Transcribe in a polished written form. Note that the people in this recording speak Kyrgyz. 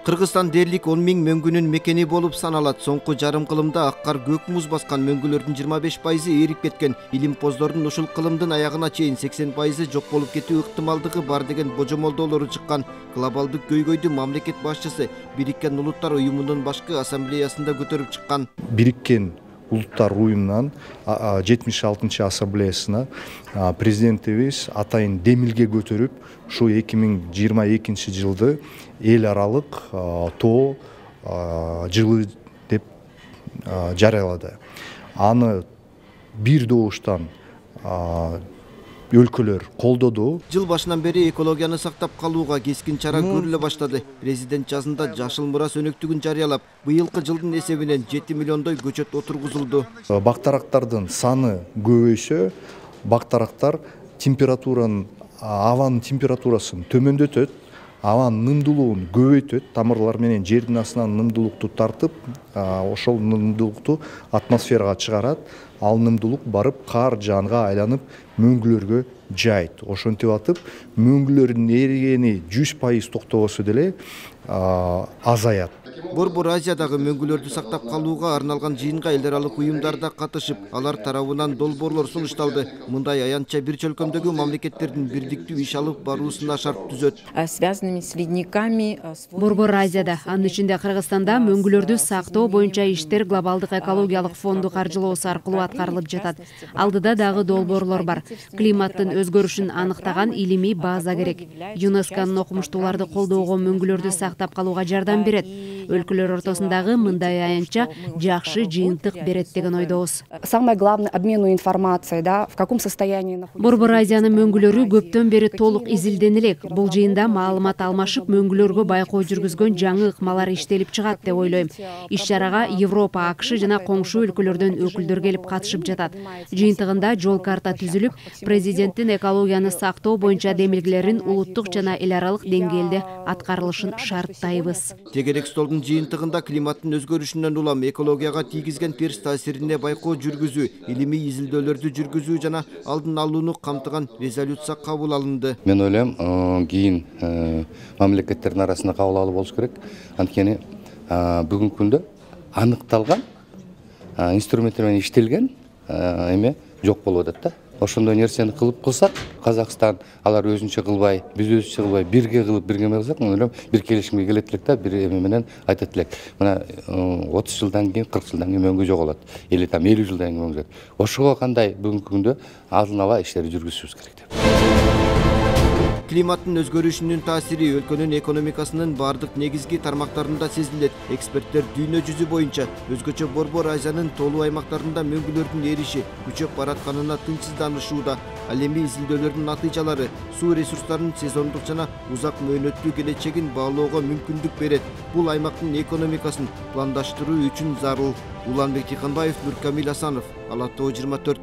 Кыргызстан дээрлик 10 000 мөңгүнүн мекени болуп саналат. Соңку жарым кылымда аккар көк муз баскан мөңгүлөрдүн 25% эрип кеткен. Илимпоздордун ушул кылымдын аягына чейин 80% жок болуп кетүү ыктымалдыгы бар деген божомолдоолору чыккан. Глобалдык көйгөйдү мамлекет башчысы Бириккен Улуттар уюмунун башкы ассамблеясында көтөрүп чыккан. Бириккен Улуттар уюмунан 76-чы ассамблеясына президентибиз атайын демилге көтөрүп, ушу 2022 жылды эл аралык тоо жылы деп жарыялады. Аны бир добуштан өлкөлөр колдоду. Жыл башынан бери экологияны сактап калууга кескин чара көрүлө баштады. Президент жазында жашыл мурас өнөктүгүн жарыялап, быйылкы жылдын эсебинен 7 миллиондой көчөт отургузулду. Бактарактардын саны көбөйсө, бактарактар абанын температурасын төмөндөтөт, абанын нымдуулугун көбөйтөт, тамырлар менен жердин астынан нымдуулукту тартып, ошол нымдуулукту атмосферага чыгарат. Ал нымдуулук барып кар жанга айланып мөңгүлөргө жайт. Ошентип атып, мөңгүлөрдүн эригени 100% токтобосо деле азаят. Борбор Азиядагы мөңгүлөрдү сактап калууга арналган жыйынга эл аралык уюмдар да катышып, алар тарабынан долбоорлор сунушталды. Мындай аянтча бир чөлкөмдөгү мамлекеттердин бирдиктүү иш алып баруусуна шарт түзөт. Связанными с ледниками. Борбор Азияда, анын ичинде Кыргызстанда мөңгүлөрдү сактоо боюнча иштер глобалдык экологиялык фонду каржылоосу аркылуу аткарылып жатат. Алдыда дагы долбоорлор бар. Климаттын өзгөрүшүн аныктаган илимий база керек. ЮНЕСКОнун окумуштууларды колдоого мөңгүлөрдү сактап калууга жардам берет. Өлкөлөр ортосундагы мындай аянтча жакшы жыйынтык берет деген ойдобуз. Самое главное обмену информацией, да, в каком состоянии находится. Борбор Азиянын мөңгүлөрү көптөн бери толук изилдене элек. Бул жыйында маалымат алмашып, мөңгүлөргө байкоо жүргүзгөн жаңы ыкмалар иштелип чыгат деп ойлойм. Иш-чарага Европа, АКШ жана коңшу өлкөлөрдөн өкүлдөр келип катышып жатат. Жыйынтыгында жол карта түзүлүп, президенттин экологияны сактоо боюнча демилгелерин улуттук жана эл аралык деңгээлде аткарылышын шарттайбыз. Тегерек столдун жыйынтыгында климаттын өзгөрүшүнөн улам экологияга тийгизген терс таасирине байкоо жүргүзүү, илимий изилдөөлөрдү жүргүзүү жана алдын алууну камтыган резолюция кабыл алынды. Мен ойлойм, кийин мамлекеттердин арасында кабыл алуу болуш керек. Анткени бүгүнкү күндө аныкталган инструменттер менен иштелген эме жок болуп атат да. Ошондой нерсени кылсак, Казакстан алар өзүнчө кылбай, биз өзүнчө кылбай, бирге кылып, бирге кылсак, мен ойлойм, бир келишимге келет элек да, бир эме менен айтат элек. Мына 30 жылдан кийин, 40 жылдан кийин мөңгү жоголот. Или 50 жылдан кийин мөңгү. Ошого кандай бүгүнкү күндө алдын ала иштерди жүргүзүшүбүз керек деп. Климаттын өзгөрүшүнүн таасири өлкөнүн экономикасынын бардык негизги тармактарында сезилет. Эксперттер дүйнө жүзү боюнча өзгөчө Борбор Азиянын тоолуу аймактарында мөңгүлөрдүн эриши күчөп баратканына тынчсызданышууда. Ал эми изилдөөлөрдүн натыйжалары суу ресурстарынын сезондук жана узак мөөнөттүү келечегин баалоого мүмкүндүк берет. Бул аймактын экономикасын пландаштыруу үчүн зарыл. Уланбек Тыйканбаев, Нуркамил Асанов, Ала Тоо 24.